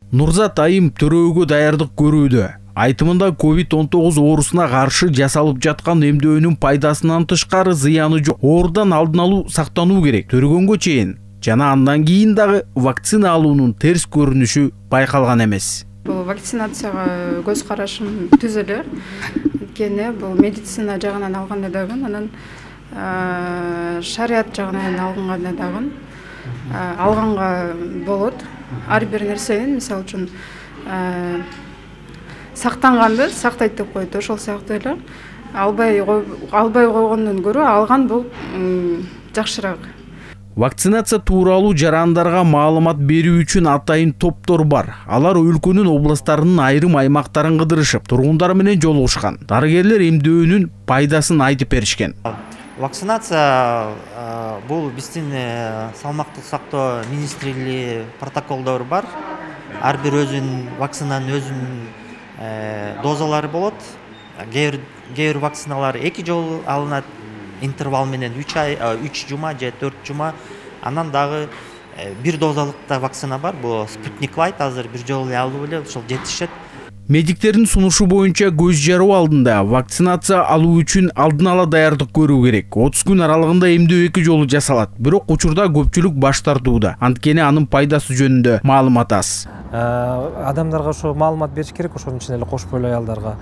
Нурзат Айым төрөөгө даярдык көрүүдө. Айтымында COVID-19 оорусуна каршы жасалып жаткан эмдөөнүн пайдасынан тышкары зыяны жок. Оорудан алдын алуу сактануу керек. Төрөгөнгө чейин жана андан кийин дагы вакцина алуунун терс көрүнүшү байкалган эмес. Бул вакцинацияга көз карашым түз эле. Анткени бул медицина жагынан алганда дагы, анан шарият жагынан алганда дагы алганга болот. Ар бир нерсенин, мисалы үчүн, сактанганды сактайт деп коет. Ошол сыяктуу эле албай койгондон көрө алган бул жакшыраак. Вакцинация тууралуу жарандарга маалымат берүү үчүн атайын топтор бар. Алар өлкөнүн областарынын айрым аймактарын кыдырышып, тургундар менен жолугушкан. Дарыгерлер эмдөөнүн пайдасын айтып беришкен. Вакцинация бул биздин салмактык сактоо министрлиги протоколдору бар. Ар бир өзүнүн вакцинанын өзүнүн дозалары болот. Кээ бир вакциналар 2 жолу алынат. Интервал менен 3 жума же 4 жума. Анан дагы бир дозалыкта вакцина бар. Бул Sputnik Light азыр бир жолу алуу эле ошол жетишет. Медиктердин сунушу боюнча көз жаруу алдында вакцинация алуу үчүн алдын ала даярдык көрүү керек. 30 күн аралыгында эмдөө 2 жолу жасалат. Бирок учурда көпчүлүк баш тартууда. Анткени анын пайдасы жөнүндө маалымат аз. Адамдарга ошо маалымат бериш керек, ошонун ичинде эле кош бойлуу аялдарга.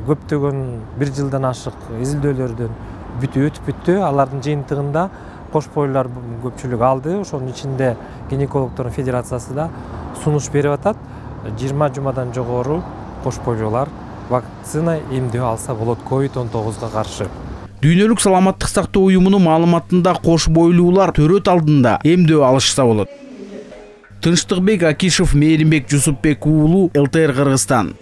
Көптөгөн 1 жылдан ашык изилдөөлөрдөн өтүп бүттү. Алардын жыйынтыгында кош бойлуулар көпчүлүк алды. Ошонун ичинде гинекологдордун федерациясы да сунуш берип атат. 20 жумадан жогору кош бойлуулар вакцина эмдөө алса болот COVID-19 каршы. Дүйнөлүк саламаттык сактоо уюмунун маалыматында кош бойлуулар төрөт алдында эмдөө алышса болот. Тынчтыкбек Акишев, Мээринбек Жусупбек уулу, ЛТР Кыргызстан.